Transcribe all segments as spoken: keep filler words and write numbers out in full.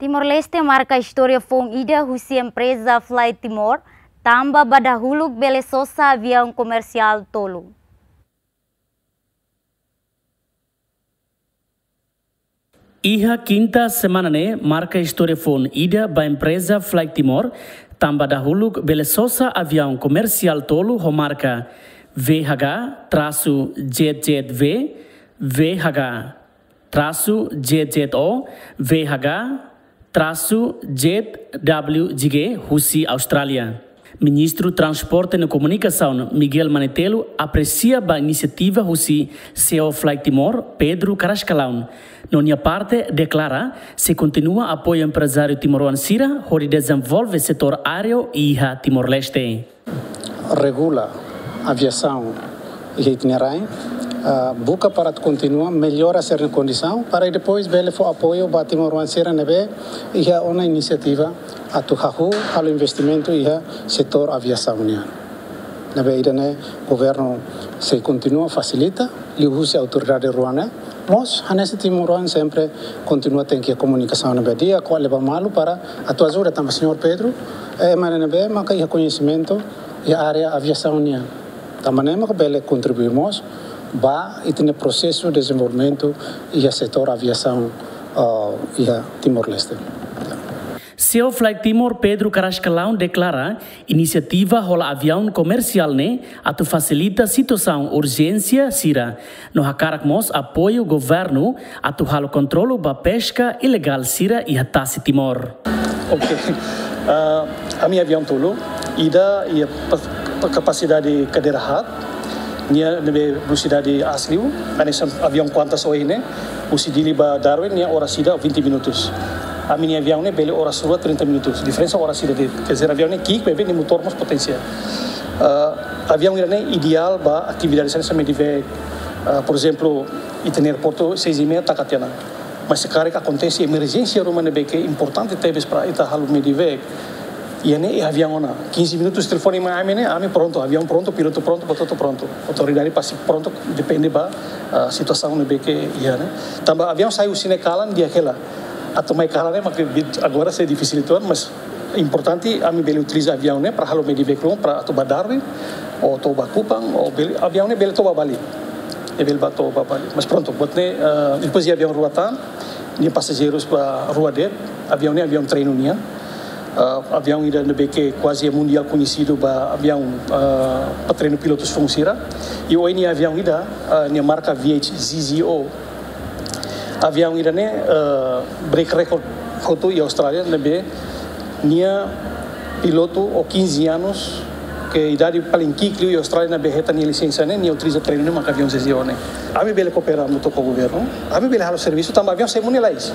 Timor-Leste marka istória foun ida husi empreza Fly Timor, tanba ba dahuluk bele sosa aviaun komersiál tolu. Iha kinta semana ne'e marka istória foun ida ba empreza Fly Timor, tanba dahuluk bele sosa aviaun komersiál tolu ho marka V H G trasu Z Z V, V H G trasu Z Z O, V H G trasu Z W G husi Austrália. Ministru Transporte no Komunikasaun Miguel Manetelu apresia ba inisiativa husi C E O Fly Timor, Pedro Carrascalão. No nia parte deklara sei kontinua apoiu emprezáriu timoroan sira hodi dezenvolve setór aéreu iha Timor-Leste. Regula aviasaun iha ita-nia rain, ah, buka para atu kontinua mellora sira-nia kondisaun, para depois bele fó apoiu ba timoroan sira ne'ebé iha ona inisiativa atu hahú halo investimentu iha setór aviasaun nian. Ne'ebé ida-ne'e governu sei kontinua fasilita, liuhusi autoridade rua ne'e, mós hanesan timoroan sempre kontinua tenke komunikasaun ne'ebé di'ak, kual leba malu para atu ajuda tanba señór Pedro, eh, ema ne'ebé maka iha koñesimentu iha área aviasaun nian. Tanba ne'e maka bele kontribui mós ba ita-nia prosesu dezenvolvimentu iha setór aviasaun, ah, iha Timor-Leste. C E O Fly Timor Pedro Carrascalão deklara inisiativa hola aviaun komersiál ne'e atu fasilita situasaun urjénsia sira, no hakarak mós apoiu governu atu halo kontrolu ba peska ilegál sira iha tasi Timor. Oke. Ah, ami aviaun tolu, ida iha pas-, pa-, kapasidade kadeira haat, nia ne'ebé velosidade aas liu, hanesan aviaun Qantas ohin ne'e, husi Dili ba Darwin, nia oras ida vinte minutos. Ami-nia aviaun ne'e bele oras rua trinta minutos. Diferensa oras ida de'it. Quer dizer, aviaun ne'e ki'ik, maibé nia motór mós potensiál. Ah, aviaun ida-ne'e ideál ba atividade hanesan medevac, ah, por ezemplu, ita-nia aeroportu seis e meia taka tiha ona. Mas se karik akontese emerjénsia ruma ne'ebé ke importante tebes para ita halo medevac, iha ne'e iha aviaun ona. Quinze minutos telefone mai ami ne'e, ami prontu, aviaun prontu, pilotu prontu, ba hotu prontu. Autoridade pasti prontu, depende ba, ah, situasaun ne'ebé ke iha ne'e. Tanba aviaun sai husi ne'e kalan di'ak hela. Atu mai kalan ne'e mak bit agora sei difisil uitoan, mas importante ami bele utiliza aviaun ne'e para halo medevac ruma para atu ba Darwin, ou to'o ba Kupang, ou bele, aviaun ne'e bele to'o ba Bali. Ne'e bele ba to'o ba Bali. Mas prontu, buat ne'e, ah, depois de aviaun rua tan, nia pasajeirus ba rua de'it, aviaun ne'e aviaun treinu nian. Ah, aviaun ida ne'ebé ke kuaze mundiál koñesidu ba aviaun, ah, para treinu pilotus foun sira. I ohin nia aviaun ida, ah, nia marka V H Z Z O. Aviaun ida-ne'e, ah, break record hotu iha Austrália, ne'ebé nia pilotu ho quinze anos, ke idade paling ki'ik liu iha Austrália ne'ebé hetan nia lisensa ne'e, nia utiliza treinu ne'e maka aviaun Z Z O ne'e. Ami bele koopera hamutuk ho governu, ami bele halo servisu tanba aviaun semu ne'e lalais.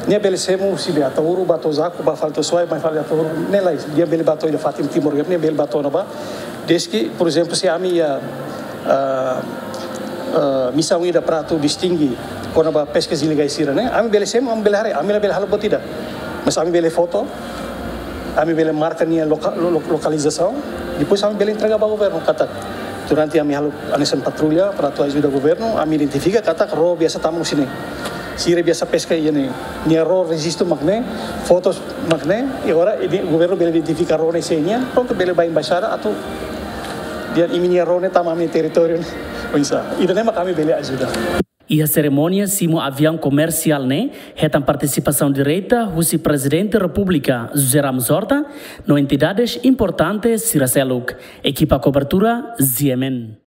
Nia bele semu husi Ataúro ba to'o Jaco, ba fali to'o Suai, mai fali Ataúro, ne'e lalais. Nia bele ba to'o ida fatin Timor, nia bele ba to'o ne'ebá. Desde ke, por ezemplu, se ami iha, ah, ah, misaun ida para atu distinge kona-ba peskas ilegais sira-ne'e, ami bele semu, ami bele haree, ami labele halo buat ida. Mas ami bele foto, ami bele marka nia loka-, lo-, lo-, lokalizasaun, depois ami bele entrega ba governu katak durante ami halo hanesan patrulla para atu ajuda governu, ami identifika katak ró biasa tama husi ne'e. Sira biasa peska iha ne'e. Nia ró rejistu mak ne'e, fotos mak ne'e, i agora ne'e governu bele identifika ró ne'e sé nian, prontu bele ba embaixada atu dehan imi-nia ró ne'e tama ami territóriu ne'e. Oinsá. Ida-ne'e mak ami bele ajuda. Iha serimónia simu aviaun komersiál ne'e hetan partisipasaun direta husi Prezidente Repúblika José Ramos Horta no entidades importante sira seluk. Ekipa kobertura, Z M N.